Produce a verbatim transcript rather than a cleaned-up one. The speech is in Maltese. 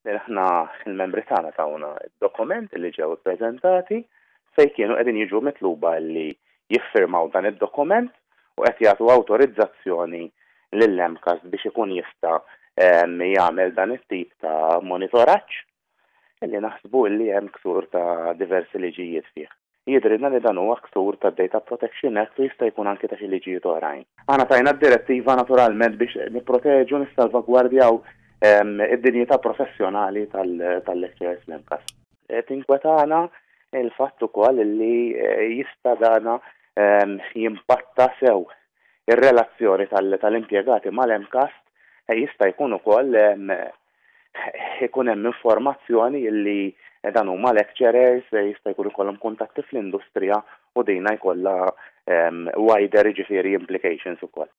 Aħna il-membri tagħna tawna d-dokument li ġew ippreżentati fejn kienu qegħdin jiġu mitluba li jiffirmaw dan id-dokument u qed jagħtu awtorizzazzjoni lill-M C A S biex ikun jista' jagħmel dan it-tip ta' monitoraġġ, illi naħsbu li hemm ksur ta' diversi liġijiet fih. Jidhrilna li dan huwa ksur ta' Data Protection Act u jista' jkun anke ta' xi liġijiet oħrajn. Aħna tajna d-direttiva naturalment biex nipproteġu, nissalvagwardjaw id-dinjità professjonali tal-lecturers l-M C A S. Tinkwetana il-fatt ukoll li eh, jista' dana jimpatta sew ir-relazzjoni tal-impjegati mal-M C A S. eh, jista' jkun ukoll ikun hemm informazzjoni li dan huma lecturers, jista' jkun ikollhom kuntatti fl-industrija u dina jkollha wider, ġifieri, implications ukoll.